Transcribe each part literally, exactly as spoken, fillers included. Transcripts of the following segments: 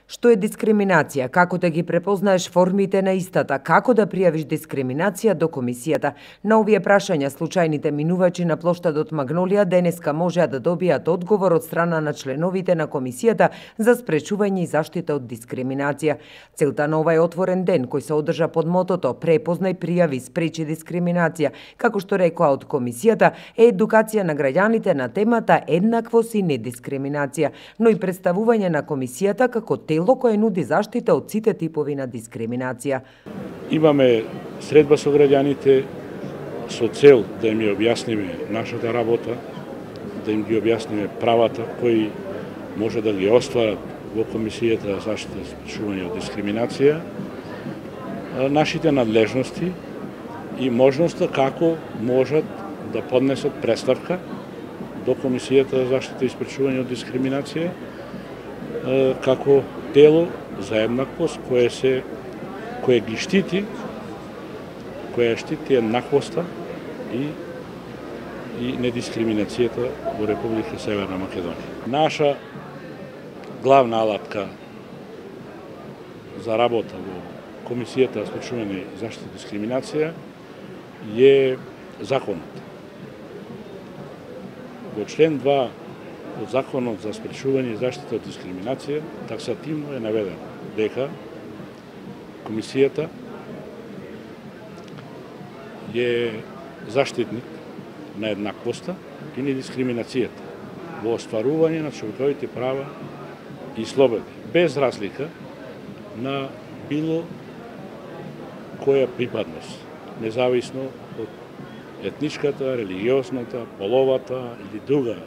Што е дискриминација, како да ги препознаеш формите на истата, како да пријавиш дискриминација до комисијата. На овие прашања случајните минувачи на плоштадот Магнолија денеска можеа да добијат одговор од страна на членовите на комисијата за спречување и заштита од дискриминација. Целта на овај отворен ден, кој се одржа под мотото "Препознај, пријави, спречи дискриминација", како што рекоа од комисијата, е едукација на граѓаните на темата еднаквост и недискриминација, но и представување на комисијата како тело кое нуди заштита од сите типови на дискриминација. Имаме средба со граѓаните со цел да им ја објасниме нашата работа, да им ги објасниме правата кои може да ги остварат во Комисијата за заштита и спречување од дискриминација, нашите надлежности и можноста како можат да поднесат преставка до Комисијата за заштита и спречување од дискриминација како тело за еднаквост кое се кое ги штити, кое штити еднаквоста и и недискриминацијата во Република Северна Македонија. Наша главна алатка за работа во Комисијата за спречување и заштита и дискриминација е законот. Во член два од Законот за спречување и заштита од дискриминација таксативно е наведено дека Комисијата е заштитник на еднаквоста и недискриминацијата во остварување на човековите права и слободи, без разлика на било која припадност, независно од етничката, религиозната, половата или друга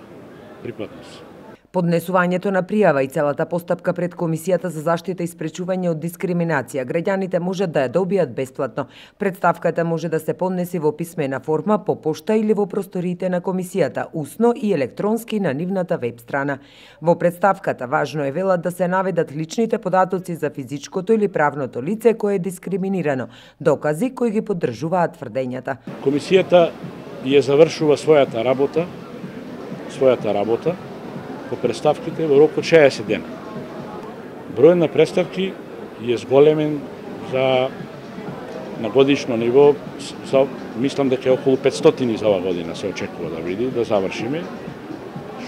припадност. Поднесувањето на пријава и целата постапка пред Комисијата за заштита и спречување од дискриминација граѓаните можат да ја добијат бесплатно. Представката може да се поднеси во писмена форма, по пошта или во просториите на Комисијата, усно и електронски на нивната веб страна. Во представката важно е велат да се наведат личните податоци за физичкото или правното лице кое е дискриминирано, докази кои ги поддржуваат тврдењата. Комисијата ја завршува својата работа, својата работа по представките во рок од шеесет дена. Бројот на представки е зголемен за на годишно ниво, за, мислам дека е околу петстотини за оваа година се очекува да види, да завршиме,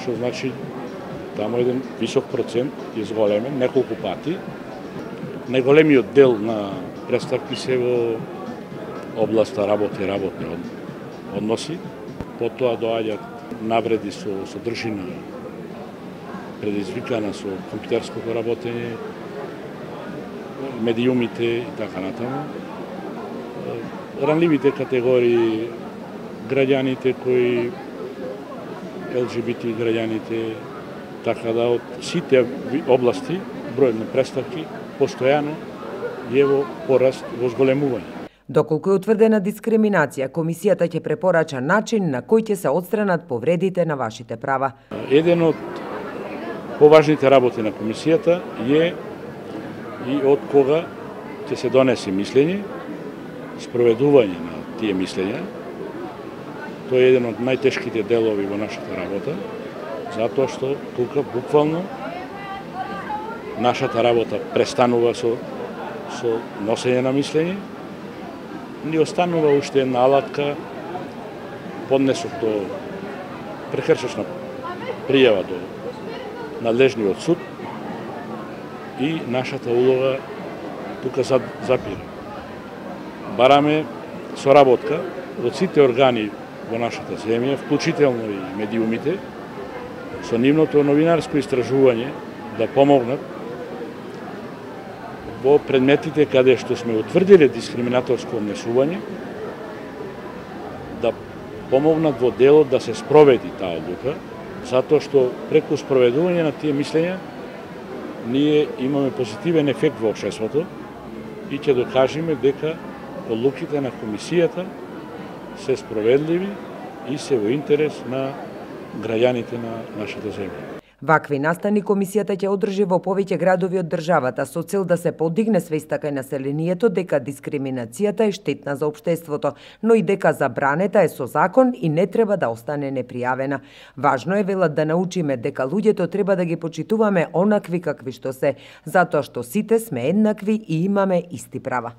што значи таму еден висок процент е зголемен, неколку пати. Најголемиот дел на представки се во областа работа и работни односи, потоа доаѓаат навреди со содржина предизвикана со компјутерското работење, медиумите и така натаму. Ранливите категории, граѓаните кои ел џи би ти граѓаните, така да од сите области бројот на представки постојано е во пораст, во зголемување. Доколку е утврдена дискриминација, Комисијата ќе препорача начин на кој ќе се отстранат повредите на вашите права. Еден од поважните работи на Комисијата е и од кога ќе се донесе мислење, спроведување на тие мислења. Тој е еден од најтешките делови во нашата работа, затоа што тука буквално нашата работа престанува со, со носење на мислење, ни останува уште една алатка, поднесок до прекршачна пријава до надлежниот суд и нашата улога тука запира. Бараме соработка од сите органи во нашата земја, вклучително и медиумите, со нивното новинарско истражување да помогнат во предметите каде што сме утврдиле дискриминаторско однесување, да помогнат во делот да се спроведи таа одлука, затоа што преку спроведување на тие мислења ние имаме позитивен ефект во општеството и ќе докажеме дека одлуките на Комисијата се справедливи и се во интерес на граѓаните на нашата земја. Вакви настани комисијата ќе одржи во повеќе градови од државата со цел да се подигне свеста кај населението дека дискриминацијата е штетна за општеството, но и дека забранета е со закон и не треба да остане непријавена. Важно е, велат, да научиме дека луѓето треба да ги почитуваме онакви какви што се, затоа што сите сме еднакви и имаме исти права.